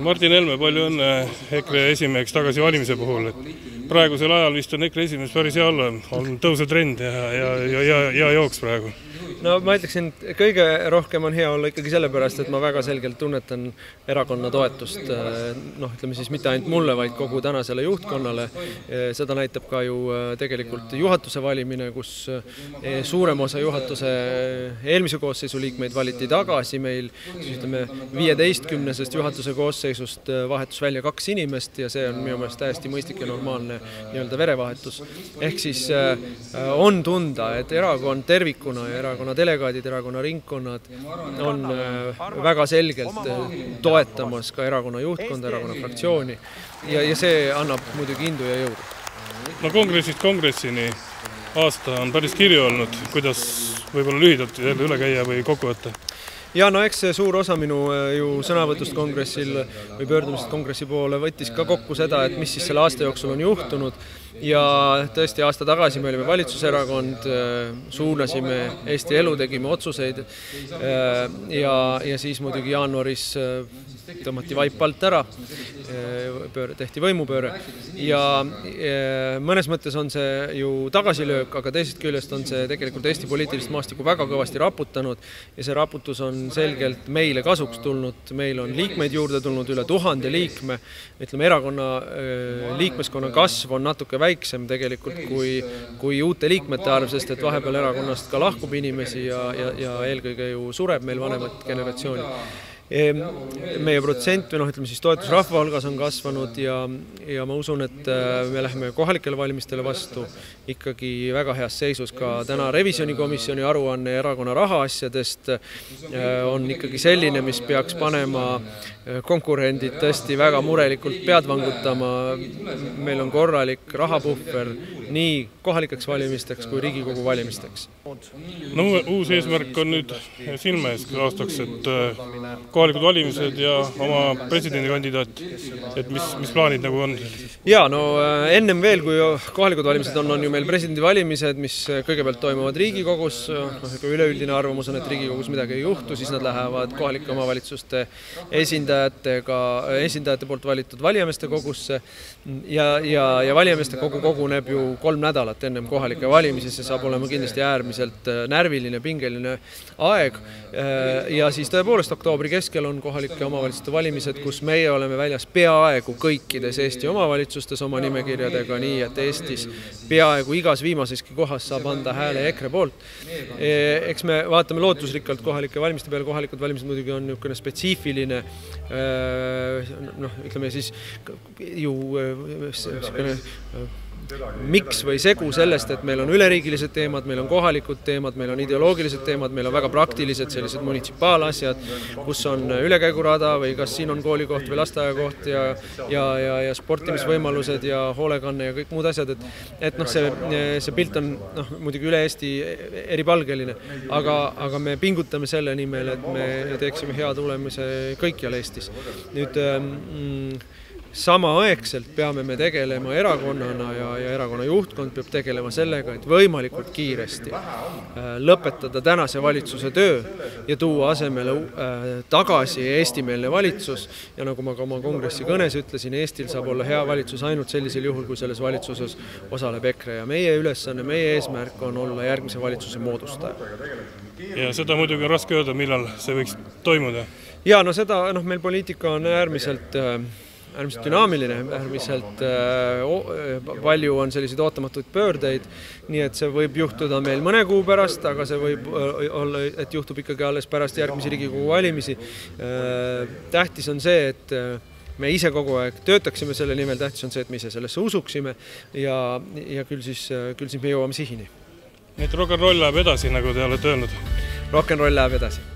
Martin Helme, palju õnne EKRE esimeheks tagasi valimise puhul. Praegusel ajal vist on EKRE esimees päris hea olla, on tõusetrend ja jooks praegu. No ma ütleksin, et kõige rohkem on hea olla ikkagi sellepärast, et ma väga selgelt tunnetan erakonna toetust, ütleme siis mitte ainult mulle, vaid kogu tänasele juhtkonnale. Seda näitab ka ju tegelikult juhatuse valimine, kus suurem osa juhatuse eelmise koosseisu liikmeid valiti tagasi meil, siis ütleme 15-sest juhatuse koosseisust vahetus välja 2 inimest ja see on minu meelest täiesti mõistlik ja normaalne nii-öelda verevahetus. Ehk siis on tunda, et erakond tervikuna ja erakonna delegaadid, erakonna ringkonnad on väga selgelt toetamas ka erakonna juhtkonda, erakonna fraktsiooni ja see annab muidugi indu ja jõudu. No kongressist kongressini aasta on päris kirju olnud, kuidas võib-olla lühidalt jälle üle käia või kokku võtta? Ja no eks see suur osa minu ju sõnavõtust kongressil või pöördumisest kongressi poole võttis ka kokku seda, et mis siis selle aasta jooksul on juhtunud ja tõesti aasta tagasi me olime valitsuserakond, suunasime Eesti elu, tegime otsuseid ja siis muidugi jaanuaris tõmmati vaip alt ära, tehti võimupööre ja mõnes mõttes on see ju tagasilöök, aga teisest küljest on see tegelikult Eesti poliitilist maastikku väga kõvasti raputanud ja see raputus on selgelt meile kasuks tulnud, meil on liikmeid juurde tulnud üle 1000 liikme, ütleme erakonna liikmeskonna kasv on natuke väiksem tegelikult kui uute liikmete arv, sest et vahepeal erakonnast ka lahkub inimesi ja eelkõige ju sureb meil vanemat generatsiooni. Meie protsent või ütleme siis toetus rahva hulgas on kasvanud ja ma usun, et me läheme kohalikele valimistele vastu ikkagi väga heas seisus. Ka täna revisjonikomisjoni aruanne erakonna rahaasjadest on ikkagi selline, mis peaks panema konkurendid tõesti väga murelikult pead vangutama. Meil on korralik rahapuhver nii kohalikeks valimisteks kui Riigikogu valimisteks. No uus eesmärk on nüüd silme ees aastaks, et kohalikud valimised ja oma presidendikandidaat, et mis plaanid nagu on? Ja, no ennem veel, kui kohalikud valimised on ju meil presidendivalimised, mis kõigepealt toimuvad Riigikogus, üleüldine arvamus on, et Riigikogus midagi ei juhtu, siis nad lähevad kohalike omavalitsuste esindajate poolt valitud valijameeste kogusse ja valijameeste kogu koguneb ju 3 nädalat ennem kohalike valimisi, see saab olema kindlasti äärmiselt närviline, pingeline aeg ja siis tõepoolest oktoobri keskel on kohalike omavalitsuste valimised, kus meie oleme väljas peaaegu kõikides Eesti omavalitsustes oma nimekirjadega, nii et Eestis peaaegu igas viimaseski kohas saab anda hääle EKRE poolt. Eks me vaatame lootusrikkalt kohalike valimiste peale, kohalikud valimised muidugi on niisugune spetsiifiline, ütleme siis ju miks või segu sellest, et meil on üleriigilised teemad, meil on kohalikud teemad, meil on ideoloogilised teemad, meil on väga praktilised sellised munitsipaalaasjad, kus on ülekäigurada või kas siin on koolikoht või lasteaiakoht ja sportimisvõimalused ja hoolekanne ja kõik muud asjad, et see pilt on muidugi üle Eesti eripalgeline, aga me pingutame selle nimel, et me teeksime hea tulemise kõikjal Eestis. Nüüd samaaegselt peame me tegelema erakonnana ja erakonna juhtkond peab tegelema sellega, et võimalikult kiiresti lõpetada tänase valitsuse töö ja tuua asemele tagasi eestimeelne valitsus ja nagu ma ka oma kongressi kõnes ütlesin, Eestil saab olla hea valitsus ainult sellisel juhul, kui selles valitsuses osaleb EKRE ja meie ülesanne, meie eesmärk on olla järgmise valitsuse moodustaja. Ja seda muidugi on raske öelda, millal see võiks toimuda? Ja, no seda, meil poliitika on äärmiselt dünaamiline, äärmiselt palju on selliseid ootamatuid pöördeid, nii et see võib juhtuda meil mõne kuu pärast, aga see võib olla, et juhtub ikkagi alles pärast järgmisi Riigikogu valimisi. Tähtis on see, et me ise kogu aeg töötaksime selle nimel, tähtis on see, et me ise sellesse usuksime ja küll siis me jõuame sihini. Nii et rock'n'roll läheb edasi, nagu te olete öelnud? Rock'n'roll läheb edasi.